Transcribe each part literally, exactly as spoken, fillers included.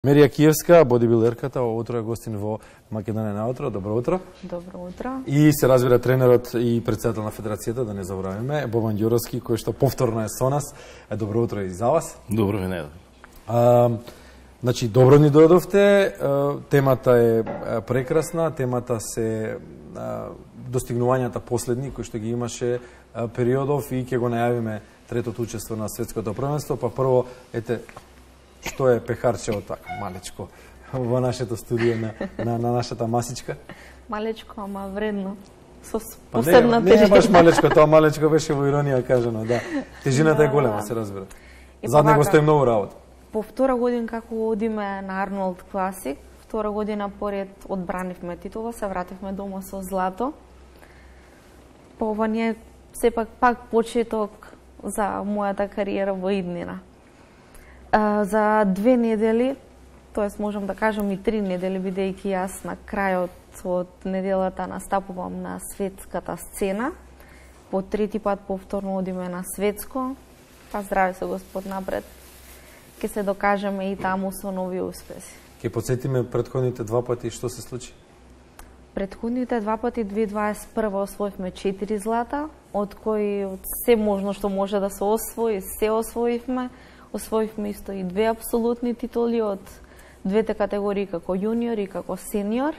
Мерија Киевска, бодибилдерката, утро е гостин во Македонија на утро. Добро утро. Добро утро. И се разбира тренерот и председател на федерацијата, да не забораваме, Бобан Ѓуровски, кој што повторно е со нас. Е, добро утро и за вас. Добро венеда. А, значи, добро ни дојдовте. Темата е прекрасна, темата се а, достигнувањата последни кои што ги имаше а, периодов и ќе го најавиме третото учество на светското првенство. Па прво, ете, што е пехарчево така, малечко, во нашето студио на, на, на нашата масичка? Малечко, ама вредно. Со па посебна не, тежина. Не е баш малечко, тоа малечко беше во иронија кажано, да. Тежината да, е голема, се разбира. Зад него стои многу работа. По втора година како одиме на Арнолд Класик, втора година поред одбранивме титула, се вративме дома со злато. По ова не е сепак пак почеток за мојата кариера во иднина. Uh, за две недели, тоест можам да кажам и три недели, бидејќи јас на крајот од неделата настапувам на светската сцена. По трети пат повторно одиме на светско. Па здраве се Господ напред. Ке се докажеме и таму со нови успеси. Ке подсетиме претходните два пати што се случи? Претходните два пати две илјади дваесет и прва освоивме четири злата, од кои од се можно што може да се освои, се освоивме. Освоивме исто и две апсолутни титули од двете категории како јуниор и како сениор.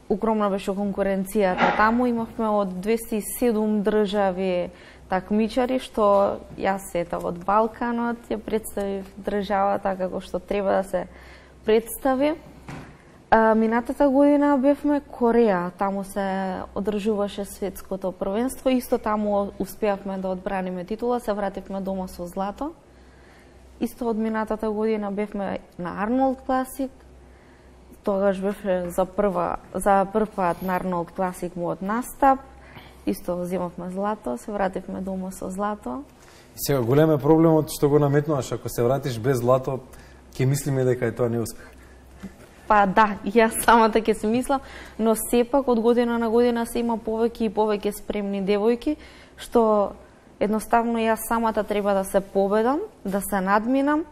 Огромна беше конкуренцијата таму, имавме од двесте и седум држави такмичари, што јас ета од Балканот ја представив државата како што треба да се представи. А, минатата година бевме Кореја, таму се одржуваше светското првенство, исто таму успеавме да одбраниме титула, се вративме дома со злато. Исто од минатата година бевме на Арнолд Класик. Тогаш бевме за прва за прв пат на Арнолд Класик мојот настап. Исто земавме злато, се вративме дома со злато. И сега голем е проблемот што го наметнуваш, ако се вратиш без злато, ќе мислиме дека е тоа неуспех. Па да, јас самата ќе се мислам, но сепак од година на година се има повеќе и повеќе спремни девојки, што едноставно јас самата треба да се победам, да се надминам,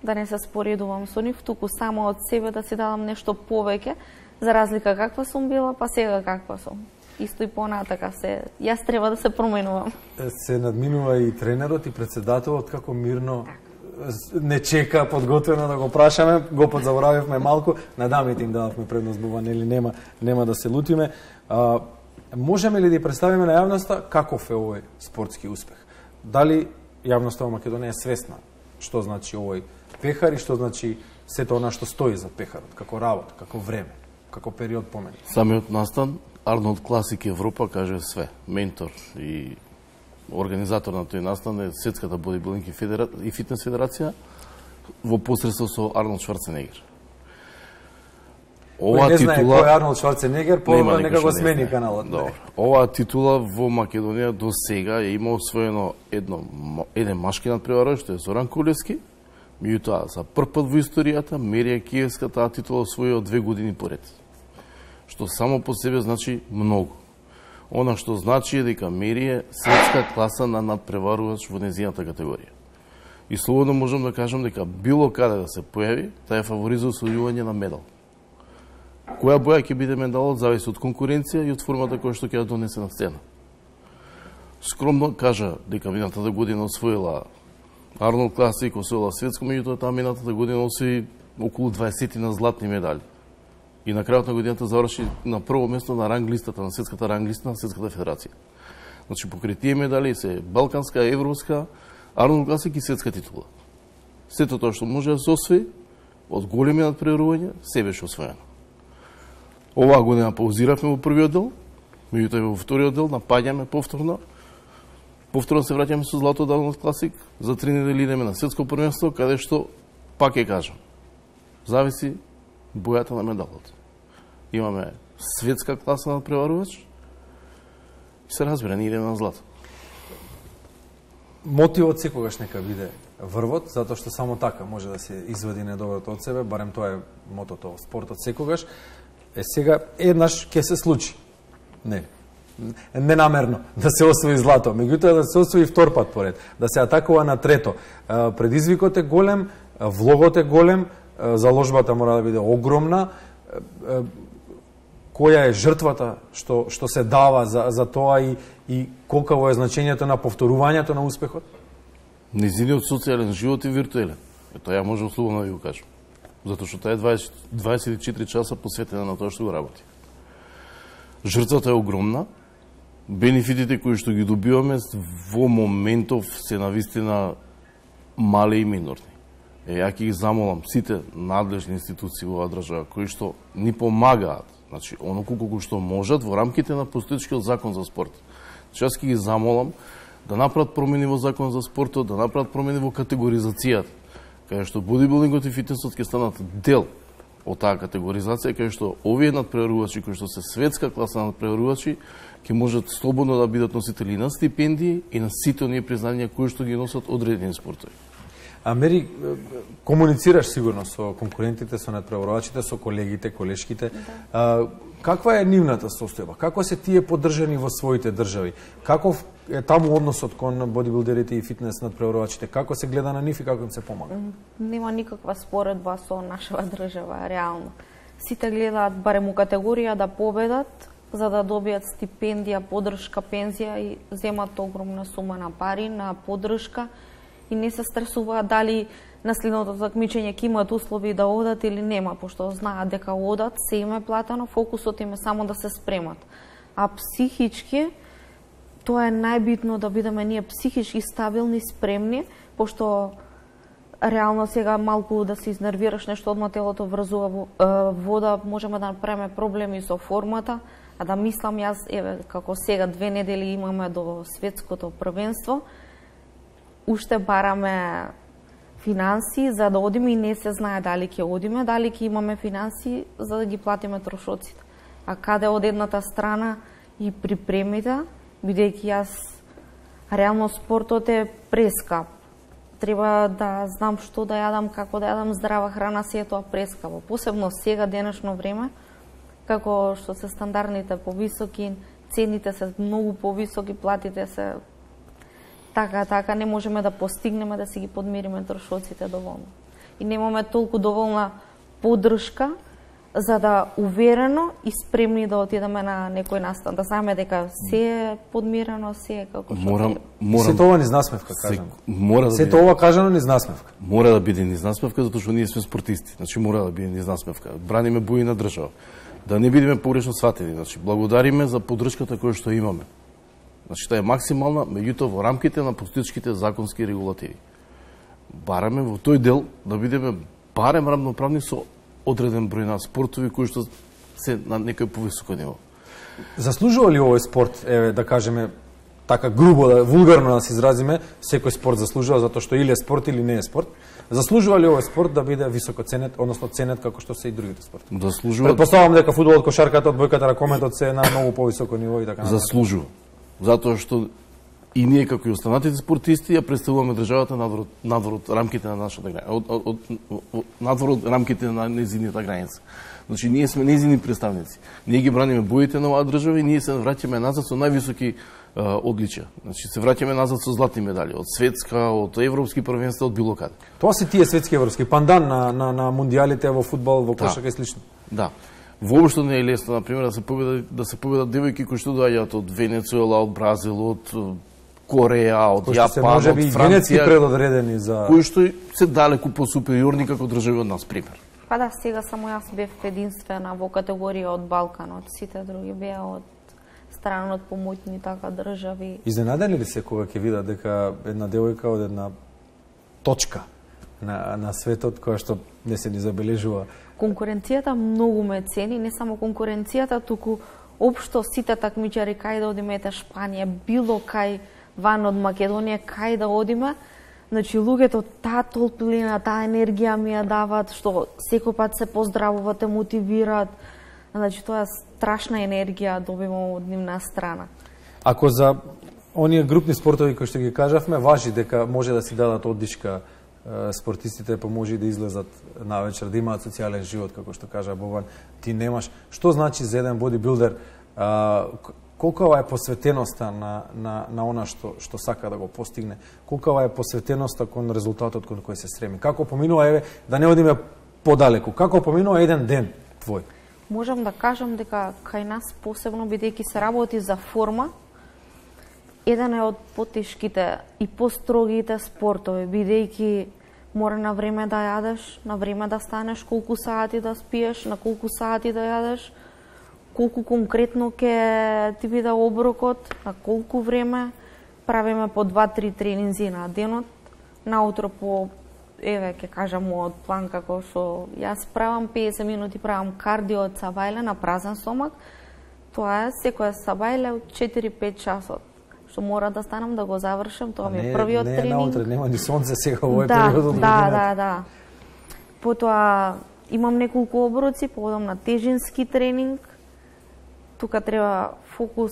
да не се споредувам со нив, туку само од себе да си дадам нешто повеќе, за разлика каква сум била, па сега каква сум. Исто и понатака се, јас треба да се променувам. Се надминува и тренерот и председателот како мирно не чека подготвено да го прашаме, го подзаборавивме малку, на дамите им дадовме предност бува, нели нема нема да се лутиме. А, можеме ли да ја представиме на јавноста каков е овој спортски успех? Дали јавноста во Македонија е свесна што значи овој пехар и што значи сето она што стои за пехарот, како работа, како време, како период помени? Самиот настан Арнолд Класик Европа каже све. Ментор и организатор на тој настан е Светската бодибилдинг и, федера... и фитнес федерација во посредство со Арнолд Шварценегер. Ова не титула... знае кој е Арнолд Шварценегер, по нека го смени каналот. Добро. Оваа титула во Македонија до сега е има освоено едно, еден машки надпреварувач, што е Зоран Кулевски, меѓутоа за прв пат во историјата Мерија Киевска таа титула освои од две години поред. Што само по себе значи многу. Она што значи е дека Мерија светска класа на надпреварувач во незината категорија. И слободно можам да кажам дека било каде да се појави, таа е фаворит за освојување на медал. Која боја ќе биде медалот зависи од конкуренција и од формата која што ќе ја донесе на сцена. Скромно кажа дека минатата година освоила Арнолд Класик, освоила светско, меѓутоа таа минатата година освои околу дваесет на златни медали. И на крајот на годината заврши на прво место на ранг листата, на светската ранг листа на Светската федерација. Значи покрај тие медали се балканска, европска, Арнолд Класик и светска титула. Сето тоа што може да се освои од големи надпреварувања се беше освоено. Оваа година паузиравме во првиот дел, меѓутоа во вториот дел напаѓаме повторно. Повторно се враќаме со злато од Арнолд Класик, за три недели идеме на светско првенство, каде што пак ќе кажам. Зависи бојата на медалот. Имаме светска класа на преварувач и се разбира, не идеме на злато. Мотивот секогаш нека биде врвот, затоа што само така може да се извади недоброто од себе, барем тоа е мотото во спортот секогаш. Е сега еднаш ќе се случи. Не. Ненамерно да се освои злато, меѓутоа да се освои втор пат поред, да се атакува на трето. Предизвикот е голем, влогот е голем, заложбата мора да биде огромна. Која е жртвата што што се дава за за тоа и и колкаво е значењето на повторувањето на успехот? Незиниот социјален живот е виртуелен. Е, тоа ја можам слободно да ви го кажам. Затоа што тоа е дваесет, дваесет и четири часа посветена на тоа што го работи. Жртвата е огромна. Бенефитите кои што ги добиваме во моментов се навистина мали и минорни. Е, ја ќе ги замолам сите надлежни институции во оваа држава кои што ни помагаат, значи оноку колку што можат во рамките на постоечкиот закон за спорт. Значи јас ќе ги замолам да направат промени во закон за спортот, да направат промени во категоризацијата, кај што бодибилдингот и фитнесот ќе станат дел од таа категоризација, кај што овие надпреварувачи кои што се светска класа надпреварувачи ќе можат слободно да бидат носители на стипендии и на сите оние признања кои што ги носат одредени спортови. А Мери, комуницираш сигурно со конкурентите, со надпреварувачите, со колегите, колешките. Да. Каква е нивната состојба? Како се тие поддржани во своите држави? Каков е таму односот кон бодибилдерите и фитнес надпреварувачите? Како се гледа на нив и како им се помага? Нема никаква споредба со нашава држава, реално. Сите гледаат барем у категорија да победат, за да добијат стипендија, поддршка, пензија и земат огромна сума на пари, на поддршка и не се стресуваат дали на следното такмичење ќе имаат услови да одат или нема, пошто знаат дека одат, се им е платено, фокусот им е само да се спремат. А психички, тоа е најбитно да бидеме ние психички стабилни, спремни, пошто реално сега малку да се изнервираш нешто, одма телото врзува вода, можеме да направиме проблеми со формата, а да мислам јас, еве, како сега две недели имаме до светското првенство, уште бараме финанси за да одиме и не се знае дали ќе одиме, дали ќе имаме финанси за да ги платиме трошоците. А каде од едната страна и припремите, бидејќи јас реално спортот е прескап. Треба да знам што да јадам, како да јадам, здрава храна, се е тоа прескапо. Посебно сега, денешно време, како што се стандардните повисоки, цените се многу повисоки, платите се така, така, не можеме да постигнеме да си ги подмириме трошоците доволно. И немаме толку доволна поддршка за да уверено и спремни да отидеме на некој настан, да знаеме дека се е подмирено, се е како што морам, морам, сето ова низ насмевка, кажам. Мора да сето ова кажано низ насмевка. Мора да биде низ насмевка, затоа што ние сме спортисти. Значи мора да биде низ насмевка. Браниме бои на држава. Да не бидеме погрешно сватени. Значи благодариме за поддршката која што имаме. Значи таа е максимална, меѓутоа во рамките на постоечките законски регулативи. Бараме во тој дел да бидеме барем равноправни со одреден број на спортови кои што се на некој повисоко ниво. Заслужува ли овој спорт, еве да кажеме така грубо, да вулгарно да се изразиме, секој спорт заслужува затоа што или е спорт или не е спорт. Заслужува ли овој спорт да биде високо ценет, односно ценет како што се и другите спортови? Заслужува. Претпоставувам дека фудбалот, кошарката, одбојката, ракометот се на многу повисоко ниво и така натаму. Заслужува. Затоа што и ние како и останатите спортисти ја представуваме државата надвор надвор од рамките на нашата граница, од, од, од надвор од рамките на незината граница. Значи ние сме незини представници. Ние ги браниме боите на оваа држава и ние се враќаме назад со највисоки а, одличија. Значи се враќаме назад со златни медали од светска, од европски првенства, од било каде. Тоа се тие светски европски пандан на на на мундијалите во фудбал, во кошарка и слично. Да. Воопшто не е лесно, например, да се победат да се победат девојки кои што доаѓаат од Венецуела, од Бразил, од Кореја, од Јапан, од Франција, генетски предодредени за кои што се далеку посупериорни како држави од нас, пример. Па да, сега само јас бев единствена во категорија од Балканот, сите други беа од страна од помоќни така држави. Изненадени ли се кога ќе видат дека една девојка од една точка на на светот која што не се ни забележува? Конкуренцијата многу ме цени, не само конкуренцијата, туку општо сите такмичари кај да одиме, ете Шпанија, било кај ван од Македонија, кај да одиме, значи луѓето таа толплина, таа енергија ми ја дават, што секој пат се поздравуваат, те мотивираат. Значи тоа е страшна енергија добивам од нивна страна. Ако за оние групни спортови кои што ги кажавме, важи дека може да си дадат оддишка спортистите, па може и да излезат навечер, да имаат социјален живот, како што кажа Богдан, ти немаш. Што значи за еден бодибилдер, колкава е посветеноста на, на, на она што, што сака да го постигне, колкава е посветеноста кон резултатот кон кој се стреми? Како поминува, еве, да не одиме подалеку. Како поминува еден ден твој? Можам да кажам дека кај нас посебно, бидејќи се работи за форма, еден е од потешките и построгите спортови, бидејќи мора на време да јадеш, на време да станеш, колку сати да спиеш, на колку сати да јадеш, колку конкретно ќе ти биде оброкот, на колку време. Правиме по два-три тренинзи на денот, наутро по, еве, ќе кажам од план како што јас правам, педесет минути правам кардио од сабајле на празен стомак. Тоа е секоја сабајле од четири-пет часот, што мора да станам да го завршам, тоа ми е првиот не, тренинг. Не е наутре, нема ни сонце сега овој да, период од да, годината. да, да. Потоа имам неколку оброци, поводам на тежински тренинг. Тука треба фокус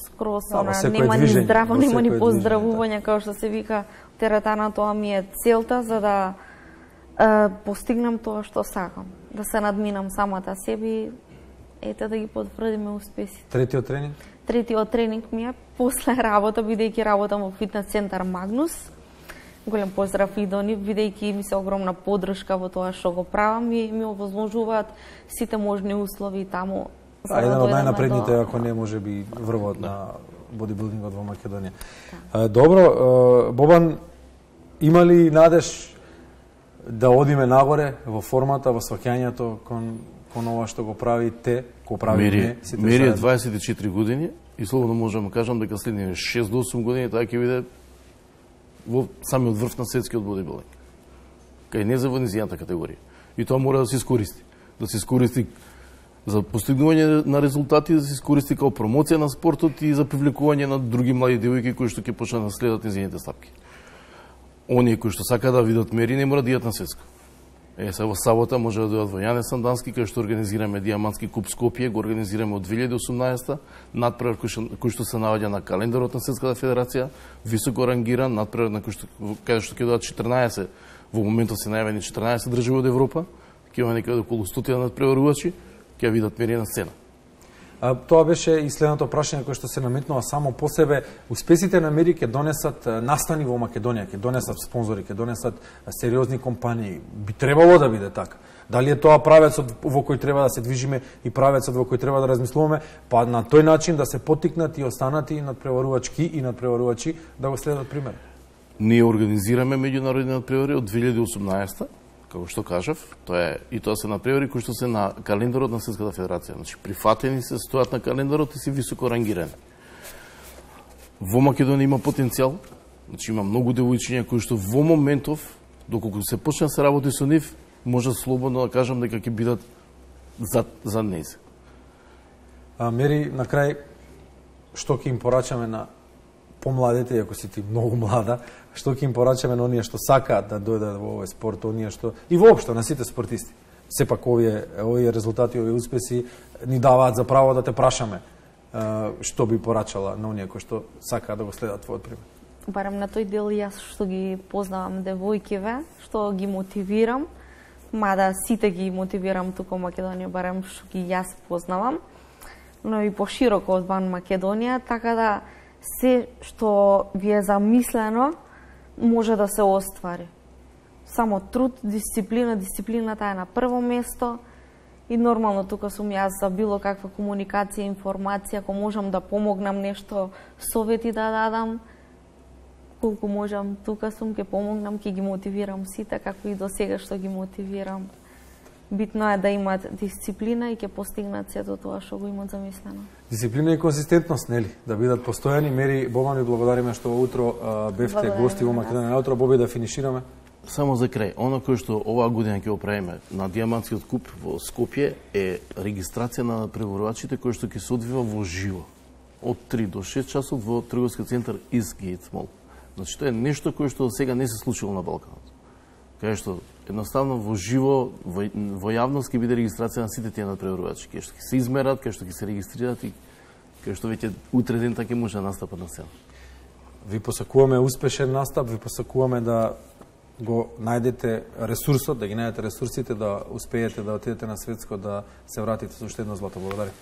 скроз, Да, она, секое нема ни движење, здраво, во нема ни секое поздравување, како што се вика теретана, тоа ми е целта за да е, постигнам тоа што сакам, да се надминам самата себе и ете да ги потврдиме успесите. Третиот тренинг? Третиот тренинг ми е после работа, бидејќи работам во фитнес центар Магнус. Голем поздрав и до нив, бидејќи ми се огромна поддршка во тоа што го правам и ми овозможуваат сите можни услови таму. А еден од најнапредните, до... ако не може би врвот да. на бодибилдингот во Македонија. Да. Добро, Бобан, има ли надеж да одиме нагоре во формата, во сваќањето кон, кон ова што го правите, го правиме? Мери, мери е дваесет и четири години и слободно можам да кажам дека следните шест до осум години таа ќе биде во самиот врв на светскиот бодибилдинг. Кај не за во низијната категорија. И тоа мора да се искористи. Да се искористи за постигнување на резултати, да се искористи како промоција на спортот и за привлекување на други млади девојки кои што ќе почнат да следат низините стапки. Оние кои што сакаат да видат Мери не мора да идат на светско. Е, се во сабота може да дојдат во Јане Сандански, кај што организираме Диамантски куп Скопје, го организираме од две илјади и осумнаесета, надпревар кој што, кој што се наоѓа на календарот на Светската федерација, високо рангиран, надпревар на кој што, кај што ќе дојдат четрнаесет, во моментот се најавени четрнаесет држави од Европа, ќе има некаде околу сто надпреварувачи, ќе видат Мери на сцена. А, тоа беше и следното прашање кое што се наметнува само по себе. Успесите на Мери ќе донесат настани во Македонија, ќе донесат спонзори, ќе донесат сериозни компании. Би требало да биде така. Дали е тоа правецот во кој треба да се движиме и правецот во кој треба да размислуваме, па на тој начин да се поттикнат и останати надпреварувачки и надпреварувачи да го следат пример. Ние организираме меѓународни надпревари од две илјади и осумнаесета, како што кажав, тоа е и тоа се надпревари кои што се на календарот на Светската федерација. Значи прифатени се стојат на календарот и се високо рангирани. Во Македонија има потенцијал, значи има многу девојчиња кои што во моментов, доколку се почне да се работи со нив, може слободно да кажам дека ќе бидат за за нејзе. А Мери, на крај што ќе им порачаме на помладите, ако си ти многу млада, што ќе им порачаме на оние што сакаат да дојдат во овој спорт, оние што и воопшто на сите спортисти. Сепак овие овие резултати, овие успеси ни даваат за право да те прашаме што би порачала на оние кои што сакаат да го следат твојот пример. Барем на тој дел јас што ги познавам девојкиве, што ги мотивирам, мада сите ги мотивирам тука во Македонија, барем што ги јас познавам, но и пошироко од ван Македонија, така да се што ви е замислено може да се оствари. Само труд, дисциплина, дисциплината е на прво место и нормално тука сум јас за било каква комуникација, информација, ако можам да помогнам нешто, совети да дадам, колку можам, тука сум, ќе помогнам, ќе ги мотивирам сите, како и до сега што ги мотивирам. Битно е да имаат дисциплина и ќе постигнат сето тоа што го имаат замислено. Дисциплина и конзистентност, нели? Да бидат постојани. Мери, Бобан, ви благодариме што утро а, бевте гости во Македонија. Наутро, Боби, да финишираме. Само за крај, оно кој што оваа година ќе го правиме на Диамантскиот куп во Скопје е регистрација на преварувачите кој што ќе се одвива во живо од три до шест часот во трговски центар Eastgate Mall. Значи тоа е нешто кое што сега не се случило на Балканот. Кај што едноставно во живо, во, во јавност ќе биде регистрација на сите тие надпреварувачи, кај што ќе се измерат, кај што ќе се регистрират и кај што веќе утре ден ќе може да настапат на сцена. Ви посакуваме успешен настап, ви посакуваме да го најдете ресурсот, да ги најдете ресурсите, да успеете да отидете на светско, да се вратите со уште едно злато. Благодарам.